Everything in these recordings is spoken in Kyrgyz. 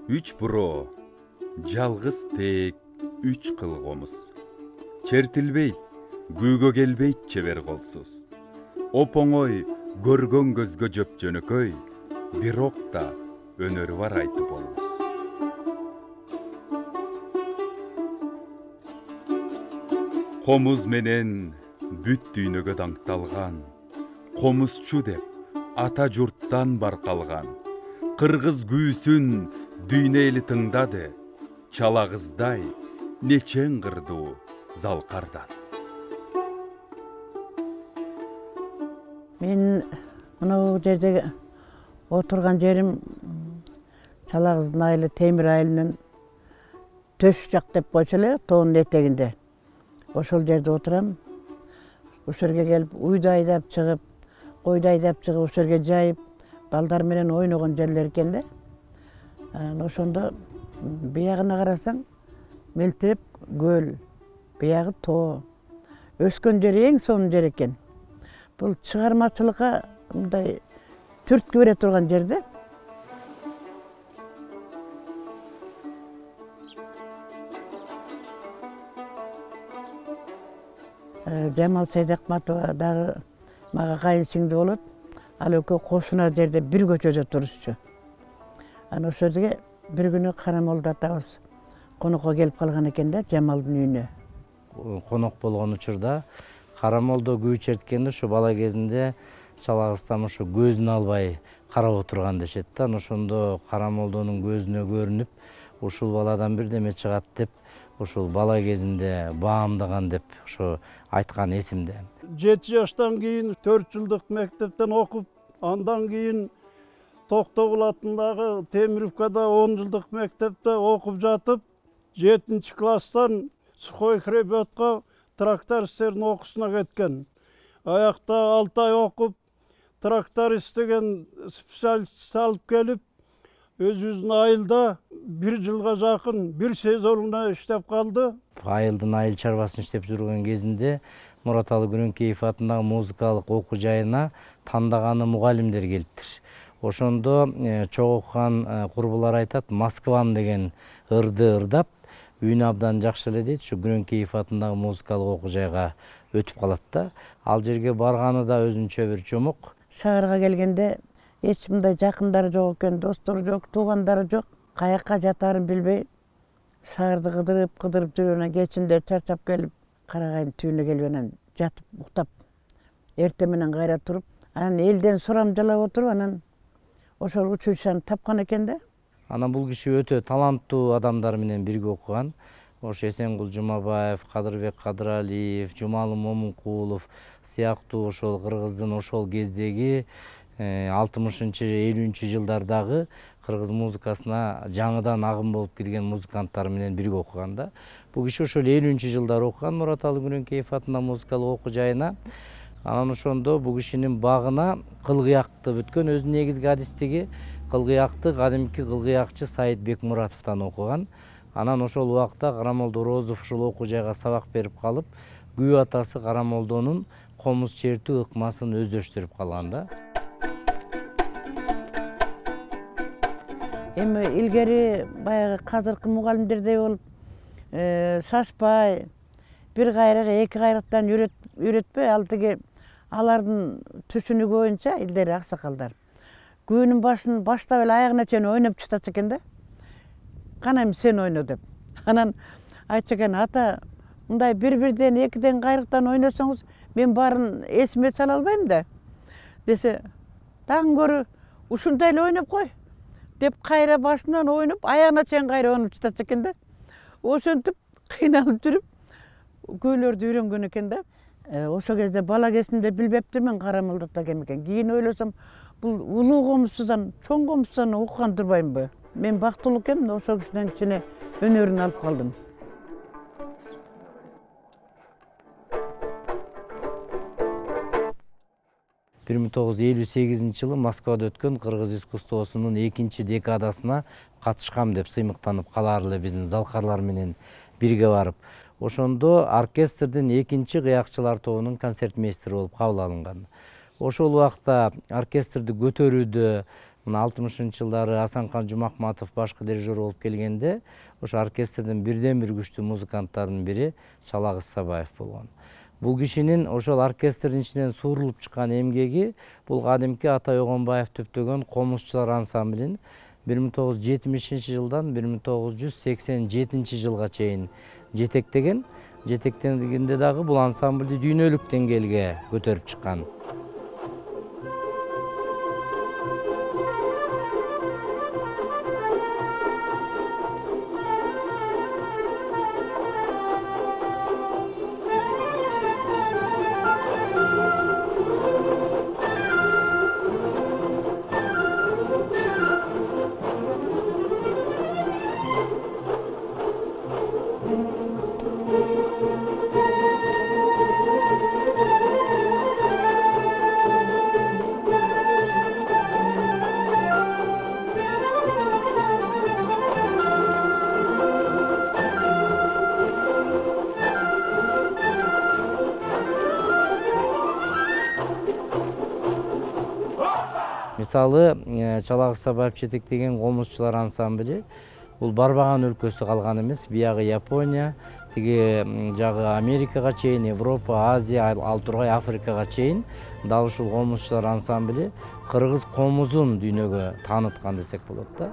Үч буроо, жалгыз тек үч кыл комуз. Чертилбейт, күүгө келбейт чебер колсуз. Оп-оңой көргөн көзгө жөп жөнөкөй, бирок да өнөрү бар айтып болбус. Комуз менен бүт дүйнөгө даңкталган, комузчу деп ата журттан баркалган. Кыргыз күүсүн дүйнө эли тыңдады, чалагыздай нечең кырдуу залкардан. Мен мынау жерде отурган жерим Чалагыздын айылы Темир айылынын төш жак деп койчу эле, тоонун этегинде. Ошол жерде отурам. Ошол жерге келип уйду айдап чыгып, койду айдап чыгып, ошол жерге жайып, балдар менен ойногон жерлер экен да. Ошондо биягына карасаң, мелтиреп көл, биягы тоо. Өскөн жери эң сонун жер экен. Бул чыгармачылыкка мындай түрткү бере турган жерде. Жамал Сейдакматова дагы мага кайын сиңди болот. Ал экөө кошуна жерде бир көчөдө турушчу. Ана ошол жерге бир күнү Карамолду атабыз конокко келип калган экен да, Жамалдын үйүнө. Конок болгон учурда Карамолдо күү черткенде ушу бала кезинде Чалагыздан ушу көзүн албай карап отурган дешет да. Ошондо Карамолдонун көзүнө көрүнүп, ушул баладан бирдеме чыгат деп, ушул бала кезинде баамдаган деп ошо айткан эсимде. 7 жаштан кийин 4 жылдык мектептен окуп, андан кийин Токтогул атындагы Темировкада 10 жылдык мектепте окуп жатып, 7 класстан сухой хребетка трактористтердин окуусуна кеткен. Аякта 6 ай окуп, тракторист деген специалист алып келип, өзүбүздүн айылда 1 жылга жакын бир сезонуна иштеп калды. Айылдын айыл чарбасын иштеп жүргөн кезинде Мураталы Күрөңкеев атындагы музыкалык окуу жайына тандаганы мугалимдер келиптир. Ошондо чогуу окуган курбулар айтат, Москвам деген ырды ырдап, үйүнө абдан жакшы эле дейт, ушу Күрөңкеев атындагы музыкалык окуу жайга өтүп калат да. Ал жерге барганы да өзүнчө бир жомок. Шаарга келгенде эч мындай жакындары жок экен, достору жок, туугандары жок. Каяка жатарын билбей, шаарды кыдырып жүргөн кечинде чарчап келип, Карагайдын түбүнө келип анан жатып уктап, эртең менен кайра туруп, анан элден сурам жалап отуруп, анан ошол училищени тапкан экен да. Анан бул киши өтө таланттуу адамдар менен бирге окуган. Ошо Эсенгул Жумабаев, Кадырбек Кадыралиев, Жумалы Момункулов сыяктуу ошол кыргыздын ошол кездеги 60-50 жылдардагы кыргыз музыкасына жаңыдан агым болуп кирген музыканттар менен бирге окуган да. Бул киши ошол 50 жылдары окуган Мураталы Күрөңкеев атындагы музыкалык окуу жайына. Анан ошондо бул кишинин багына кылгыякты бүткөн, өзүнүн негизги адистиги кылгыякты кадимки кылгыякчы Саид Бекмуратовдон окуган. Анан ошол убакта Карамолдо Розов ушул окуу жайга сабак берип калып, күү атасы Карамолдонун комуз чертүү ыкмасын өздөштүрүп калган да. Эми илгери баягы казыркы мугалимдердей болуп, шашпай, бир кайрык, эки кайрыктан үйрөтпөй, ал тиги алардын түшүнүгү боюнча илдери аксакалдар. Күнүн башын баштап эле аягына чейин ойноп чыктачу экен да. Кана эми сен ойно деп. Анан айтчу экен, ата, мындай бир-бирден, экиден кайрыктан ойносоңуз, мен баарын эсиме сала албайм да. Десе, дагы көрү ушундай эле ойноп кой деп кайра башынан ойноп, аягына чейин кайра ойноп чыктачу экен да. Ошентип кыйналып жүрүп күүлөрдү үйрөнгөн экен да. Ошол кезде бала кезимде билбептирмин Карамолдо ата кем экен. Кийин ойлосом, бул улуу комузчудан, чоң комузчудан окуган турбаймынбы? Мен бактылуу экенмин, ошол кишиден кичине өнөрүн алып калдым. Бир 1958 жылы Москвада өткөн кыргыз искусствосунун 2 декадасына катышкам деп сыймыктанып калаар эле биздин залкарлар менен бирге барып. Ошондо оркестрдин 2 кыякчылар тобунун концертмейстери болуп кабыл алынган. Ошол убакта оркестрди көтөрүүдө мына 60-жылдары Асанкан Жумакматов башкы дирижер болуп келгенде ошо оркестрдин бирден бир күчтүү музыканттарынын бири Чалагыз Сабаев болгон. Бул кишинин ошол оркестрдин ичинен суурулуп чыккан эмгеги бул кадимки Атай Огонбаев төптөгөн комузчулар ансамблин 1970-жылдан 1987-жылга чейин жетектеген. Жетектегенде дагы бул ансамблди дүйнөлүк деңгээлге көтөрүп чыккан. Мисалы, Чалагыз Сабаев жетектеген комузчулар ансамбли бул барбаган өлкөсү калган эмес. Биягы Япония, тиги жагы Америкага чейин, Европа, Азия, ал тургай Африкага чейин дал ушул комузчулар ансамбли кыргыз комузун дүйнөгө тааныткан десек болот да.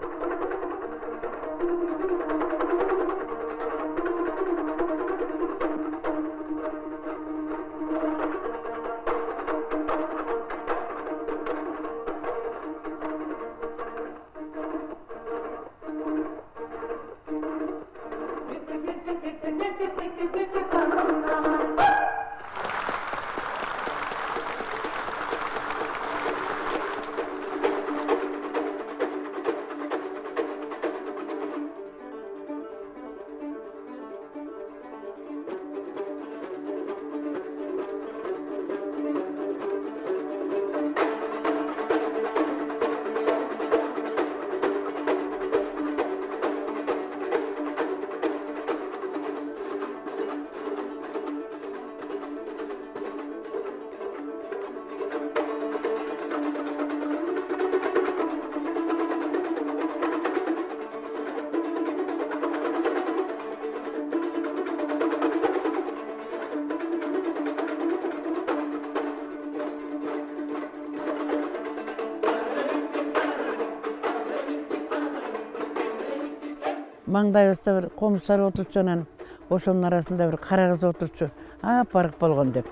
Маңдайыбызда бир комузчулар отурчу, анан ошонун арасында бир кара кыз отурчу, апарык болгон деп.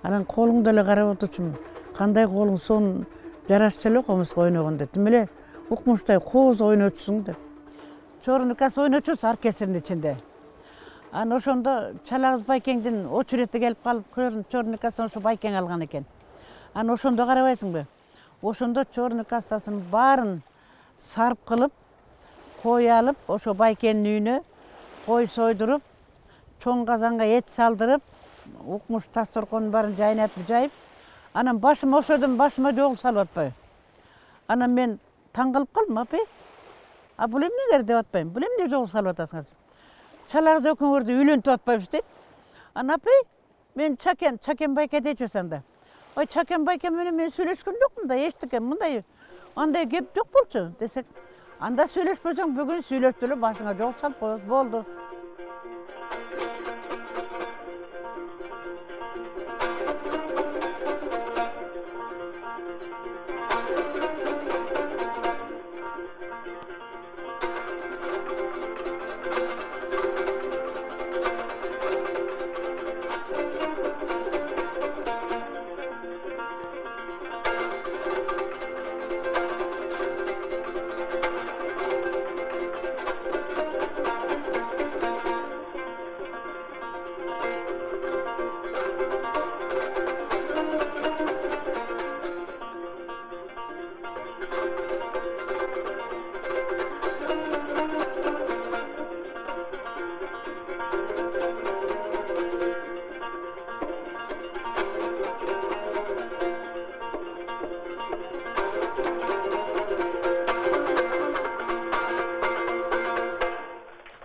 Анан колуңду эле карап отурчумун. Кандай колуң сонун жарашчу эле комузга ойногон деп. Тим эле укмуштай кооз ойнотчусуң деп. Чорнукас ойнотчусу оркестрдин ичинде. Анан ошондо Чалагыз Байкеңдин очерети келип калып, чорный кассаны ошо Байкең алган экен. Анан ошондо карабайсыңбы? Ошондо чорный кассасын баарын сарп кылып, кой алып, ошо Байкенин үйүнө кой сойдуруп, чоң казанга эт салдырып, укмуш тасторконун баарын жайнатып жайып, анан башыма ошодон башыма жогул салып атпайбы. Анан мен таң калып калдым, апай. А бул эмнеңер деп атпайм. Бул эмне жогул салып атасыңар? Чалагыз экөөңөрдү үйлөнтүп атпайбыз дейт. Анан апай, мен Чакен Байке дейчү анда. Ой, Чакен Байке менен мен сүйлөшкөн жокмун да, эчтеке мындай андай кеп жок болчу десек. Анда сүйлөшпөсөң бүгүн сүйлөштү эле башыңа жол салып коет болду.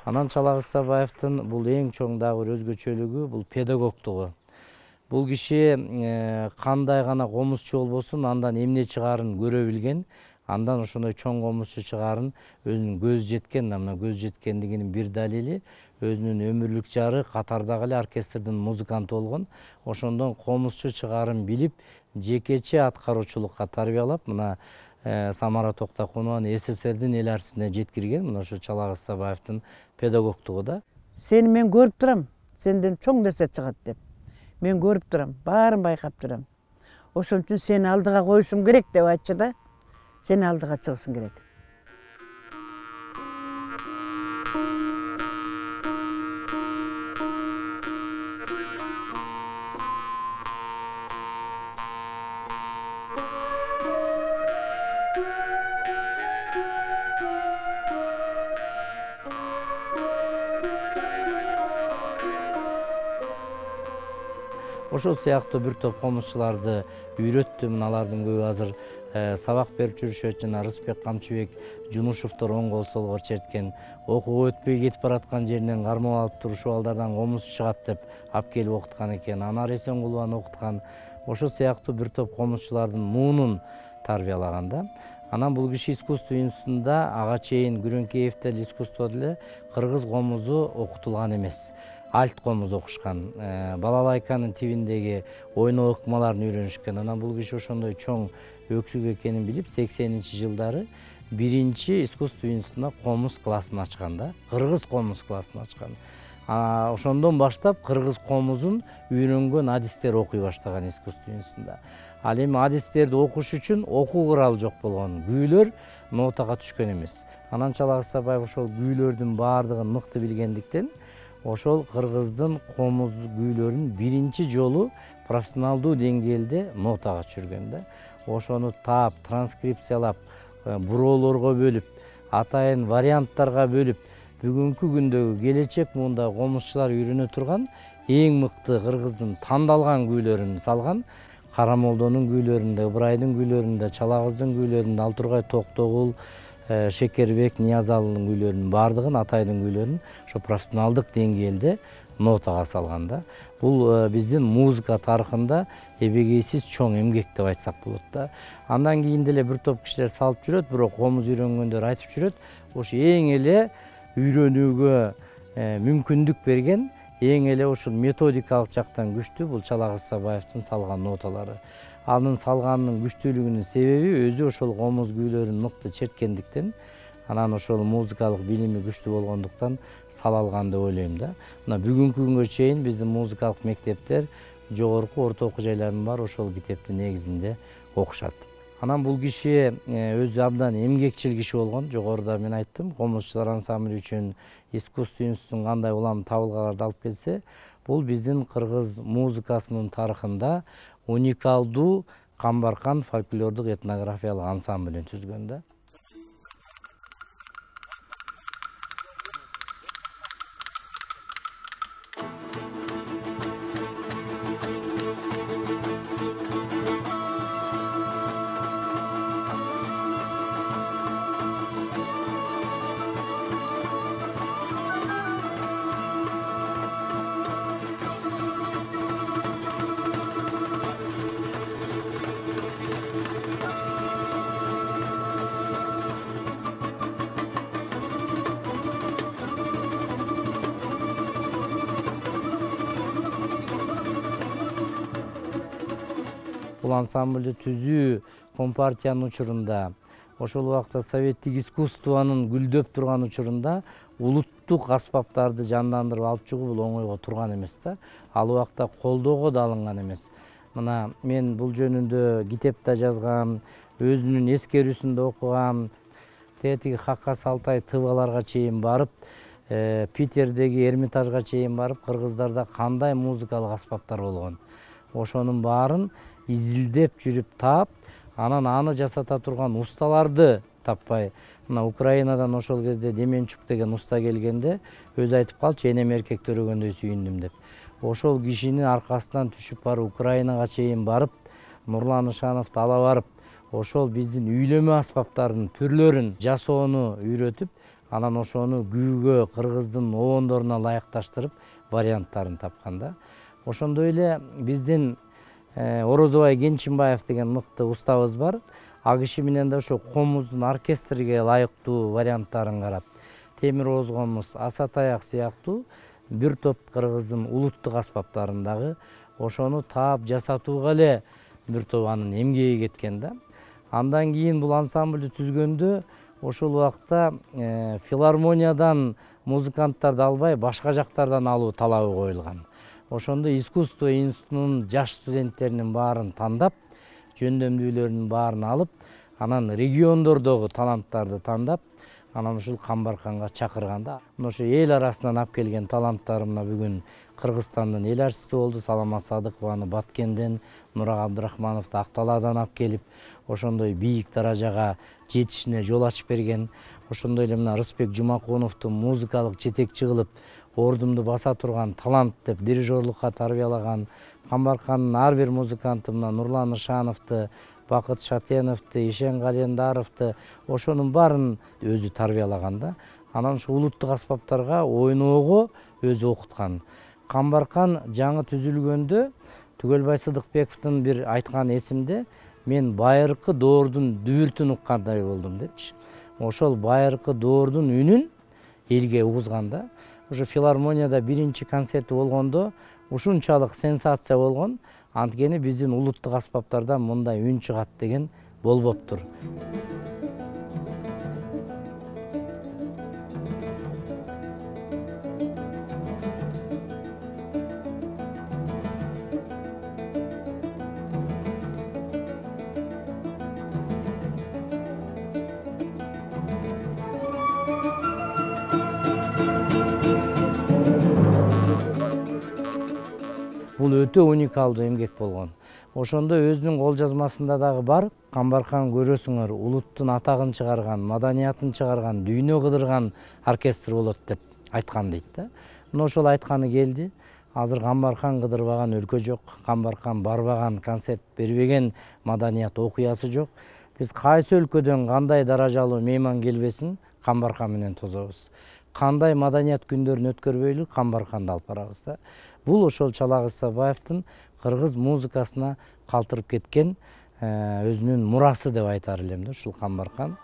Анан Чалагыз Сабаевдин бул эң чоң дагы бир өзгөчөлүгү бул педагогтугу. Бул киши кандай гана комузчу болбосун, андан эмне чыгаарын көрө билген, Андан ошондой чоң комузчу чыгаарын өзүнүн көз жеткен, мына көз жеткендигинин бир далили өзүнүн өмүрлүк жары катардагы эле оркестрдин музыканты болгон. Ошондон комузчу чыгаарын билип, жекече аткаруучулукка тарбиялап, мына Самара Токтокунованы СССРдин эл артисине жеткирген. Мына ошо Чалагыз Сабаевдин педагогтугу да. Сени мен көрүп турам, сенден чоң нерсе чыгат деп. Мен көрүп турам, баарын байкап турам. Ошон үчүн сени алдыга коюшум керек деп айтчы да. Сени алдыга чыгышың керек. Ошол сыяктуу бир топ комузчуларды үйрөттүм. Алардын көбү азыр сабак берип жүрүшөт. Жана Рыспек Камчыбек Жунушевдор оң кол солгор черткен, окууга өтпөй кетип бараткан жеринен гармон алып туруп ушул балдардан комузчу чыгат деп алып келип окуткан экен. Анар Эсенгулованы окуткан. Ошол сыяктуу бир топ комузчулардын муунун тарбиялаган да. Анан бул киши искусство институтунда ага чейин Күрөңкеев деле искусство деле кыргыз комузу окутулган эмес. Альт комуз окушкан. Балалайканын тибиндеги ойноо ыкмаларын үйрөнүшкөн. Анан бул киши ошондой чоң өксүк экенин билип, 80-жылдары биринчи искусство институтуна комуз классын ачкан да. Кыргыз комуз классын ачкан. Ошондон баштап кыргыз комузун үйрөнгөн адистер окуй баштаган искусство институтунда. Ал эми адистерди окуш үчүн окуу куралы жок болгон. Күүлөр нотага түшкөн эмес. Анан Чалагыз Сабаев ошол күүлөрдүн баардыгын мыкты билгендиктен ошол кыргыздын комуз күүлөрүн биринчи жолу профессионалдуу деңгээлде нотага түшүргөн да. Ошону таап, транскрипциялап, буроолорго бөлүп, атайын варианттарга бөлүп, бүгүнкү күндөгү келечек муунда комузчулар үйрөнө турган эң мыкты кыргыздын тандалган күүлөрүн салган. Карамолдонун күүлөрүндө, Ыбырайдын күүлөрүндө, Чалагыздын күүлөрүндө, Алтургай Токтогул, Шекербек Ниязалынын күүлөрүнүн баардыгын, Атайдын күүлөрүн ошо профессионалдык деңгээлде нотага салган да. Бул биздин музыка тарыхында эбегейсиз чоң эмгек деп айтсак болот да. Андан кийин деле бир топ кишилер салып жүрөт, бирок комуз үйрөнгөндөр айтып жүрөт, ошо эң эле үйрөнүүгө мүмкүндүк берген, эң эле ушул методикалык жактан күчтүү бул Чалагыз Сабаевдин салган ноталары. Анын салганынын күчтүүлүгүнүн себеби өзү ошол комуз күүлөрүн мыкты черткендиктен, анан ошол музыкалык билими күчтүү болгондуктан сала алган деп ойлойм да. Мына бүгүнкү күнгө чейин биздин музыкалык мектептер, жогорку орто окуу жайлардын баары ошол китептин негизинде окушат. Анан бул киши өзү абдан эмгекчил киши болгон. Жогоруда мен айттым, комузчулар ансамбль үчүн искусство институтунун кандай улам табылгаларды алып келсе, бул биздин кыргыз музыкасынын тарыхында уникалдуу Камбаркан фольклордук этнографиялык ансамблин түзгөн да. Бул ансамбльды түзүү Компартиянын учурунда, ошол убакта советтик искусствонун гүлдөп турган учурунда улуттук аспаптарды жандандырып алып чыгуу бул оңойго турган эмес да. Ал убакта колдоого да алынган эмес. Мына мен бул жөнүндө китеп да жазгам, өзүнүн эскерүүсүндө окугам. Тетиги Хакка Салтай тыбаларга чейин барып, Питердеги Эрмитажга чейин барып, кыргыздарда кандай музыкалык аспаптар болгон. Ошонун баарын изилдеп жүрүп таап, анан аны жасата турган усталарды таппай, мына Украинадан ошол кезде Деменчук деген уста келгенде өзү айтып калчу, энем эркек төрөгөндөй сүйүндүм деп. Ошол кишинин аркасынан түшүп барып, Украинага чейин барып, Нурлан Ышановду ала барып, ошол биздин үйлөмө аспаптардын түрлөрүн жасоону үйрөтүп, анан ошону күүгө кыргыздын обондоруна ылайыкташтырып варианттарын тапкан да. Ошондой эле биздин Орозобай Кенчинбаев деген мыкты устабыз бар. Ал киши менен да ошо комуздун оркестрге ылайыктуу варианттарын карап, темир ооз комуз, аса таяк сыяктуу бир топ кыргыздын улуттук аспаптарын дагы ошону таап жасатууга эле бир топ анын эмгеги кеткен да. Андан кийин бул ансамбльди түзгөндө ошол убакта филармониядан музыканттарды албай башка жактардан алуу талабы коюлган. Ошондо искусство институтунун жаш студенттеринин баарын тандап, жөндөмдүүлөрүнүн баарын алып, анан региондордогу таланттарды тандап, анан ушул Камбарканга чакырганда, ошо эл арасынан алып келген таланттарымна бүгүн Кыргызстандын эл артисти болду. Салама Садыкованы Баткенден, Нура Абдрахмановду Акталаадан алып келип, ошондой бийик даражага жетишине жол ачып берген. Ошондой эле мына Рысбек Жумаконовду музыкалык жетекчи кылып, ордумду баса турган талант деп дирижерлукка тарбиялаган. Камбаркандын ар бир музыканты мына Нурлан Ишановду, Бакыт Шатеновду, Ишен Календаровду ошонун баарын өзү тарбиялаган да. Анан ушу улуттук аспаптарга ойноого өзү окуткан. Камбаркан жаңы түзүлгөндө Түгөлбай Сыдыкбековдун бир айткан эсимде, мен байыркы доордун дүбүртүн уккандай болдум депчи. Ошол байыркы доордун үнүн элге угузган да. Ошо филармонияда биринчи концерти болгондо ушунчалык сенсация болгон. Анткени биздин улуттук аспаптардан мындай үн чыгат деген болбоптур. Бул өтө уникалдуу эмгек болгон. Ошондо өзүнүн кол жазмасында дагы бар. Камбаркан көрөсүңөр, улуттун атагын чыгарган, маданиятын чыгарган, дүйнө кыдырган оркестр болот деп айткан дейт да. Мына ошол айтканы келди. Азыр Камбаркан кыдырбаган өлкө жок, Камбаркан барбаган, концерт бербеген маданият окуясы жок. Биз кайсы өлкөдөн кандай даражалуу мейман келбесин Камбаркан менен тособуз. Кандай маданият күндөрүн өткөрбөйлү Камбарканды алып барабыз да. Бул ошол Чалагыз Сабаевдин кыргыз музыкасына калтырып кеткен өзүнүн мурасы деп айтар элем да ушул Камбаркан.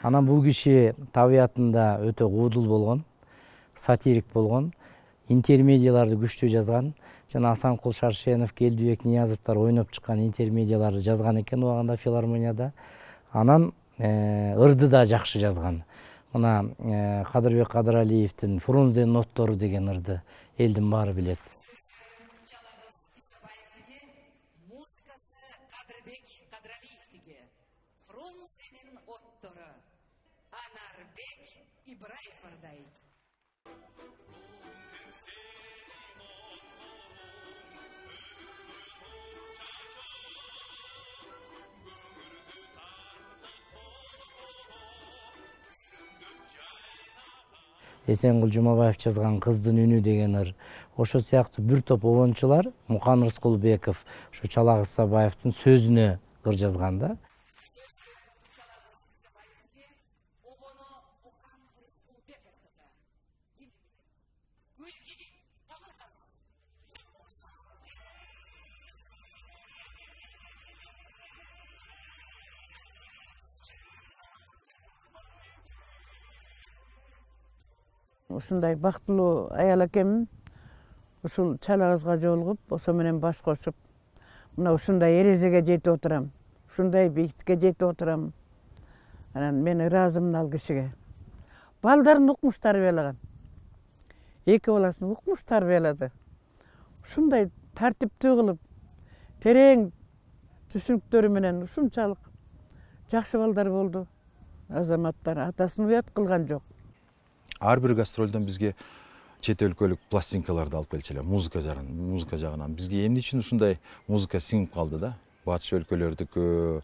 Анан бул киши табиятында өтө куудул болгон, сатирик болгон, интермедияларды күчтүү жазган. Жана Асанкул Шаршенов, Келдибек Ниязовдор ойноп чыккан интермедияларды жазган экен убагында филармонияда. Анан ырды да жакшы жазган. Мына Кадырбек Кадыралиевдин Фрунзе ноттору деген ырды элдин баары билет. Эсенгул Жумабаев жазган Кыздын үнү деген ыр. Ошо сыяктуу бир топ обончулар Мукан Рыскулбеков ушу Чалагыз Сабаевдин сөзүнө ыр жазган да. Ушундай бактылуу аял экенмин. Ушул Чалагызга жолугуп, ошо менен баш кошуп, мына ушундай эрежеге жетип отурам. Ушундай бийиктикке жетип отурам. Анан мен ыраазымын ал кишиге. Балдарын укмуш тарбиялаган. Эки баласын укмуш тарбиялады. Ушундай тартиптүү кылып, терең түшүнүктөрү менен ушунчалык жакшы балдар болду. Азаматтар атасын уят кылган жок. Ар бир гастролдон бизге чет өлкөлүк пластинкаларды алып келчү эле, музыка жагынан. Бизге эмне үчүн ушундай музыка сиңип калды да? Батыш өлкөлөрдүкү,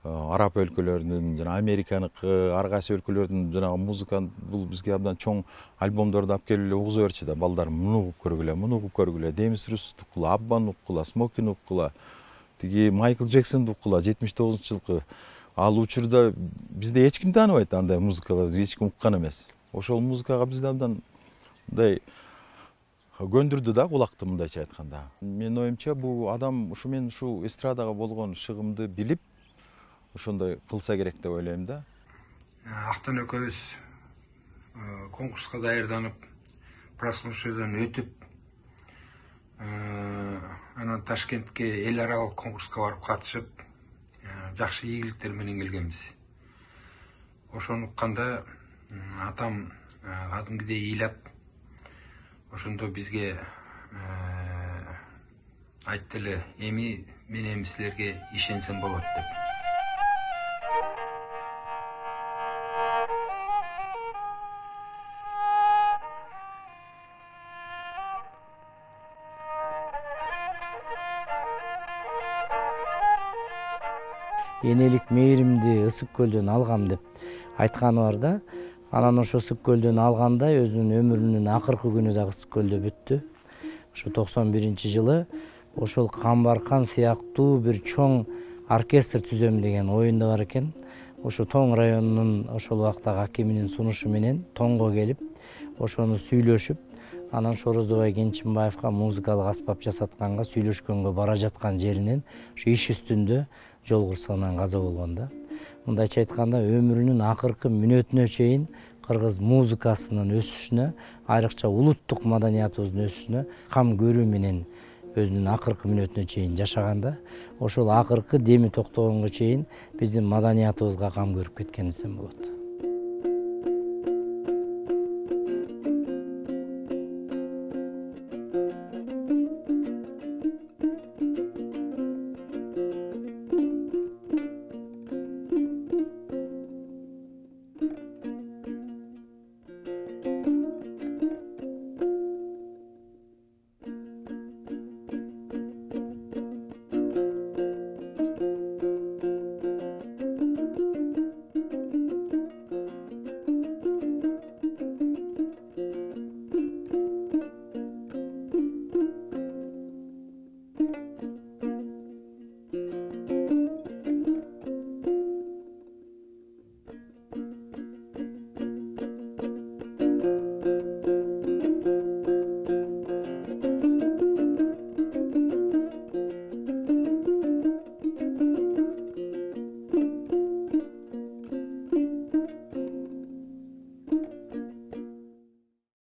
араб өлкөлөрүнүн жана Американыкы, ар кайсы өлкөлөрдүн жанагы музыкант бул бизге абдан чоң альбомдорду алып келип эле угуза берчү да. Балдар муну угуп көргүлө, муну угуп көргүлө, Демис Русовду уккула, Аббаны уккула, Смокини уккула, тиги Майкл Джексонду уккула 79-жылкы. Ал учурда бизде эч ким тааныбайт андай музыкаларды, эч ким уккан эмес. Ошол музыкага бизде абдан мындай көндүрдү да кулакты, мындайча айтканда. Менин оюмча бул адам ушу мен ушу эстрадага болгон шыгымды билип ошондой кылса керек деп ойлойм да. Актан экөөбүз конкурска даярданып, прослушивадан өтүп, анан Ташкентке эл аралык конкурска барып катышып, жакшы ийгиликтер менен келгенбиз. Ошону укканда атам кадимкидей ыйлап, ошондо бизге айтты эле, эми мен силерге ишенсем болот деп. Энелик мээримди Ысык көлдөн алгам деп айтканы бар да. Анан ошо Ысык көлдөн алганда өзүнүн өмүрүнүн акыркы күнү дагы Ысык көлдө бүттү. Ошо 91-жылы ошол Камбаркан сыяктуу бир чоң оркестр түзөм деген оюнда бар экен. Ошо Тоң районунун ошол убактагы акиминин сунушу менен Тоңго келип, ошону сүйлөшүп, анан Шорозобай Кенчимбаевга музыкалык аспап жасатканга сүйлөшкөнгө бара жаткан жеринен ушу иш үстүндө жол кырсыгынан каза болгон да. Мындайча айтканда өмүрүнүн акыркы мүнөтүнө чейин кыргыз музыкасынын өсүшүнө, айрыкча улуттук маданиятыбыздын өсүшүнө кам көрүү менен өзүнүн акыркы мүнөтүнө чейин жашаганда, ошол акыркы деми токтогонго чейин биздин маданиятыбызга кам көрүп кеткен десем болот.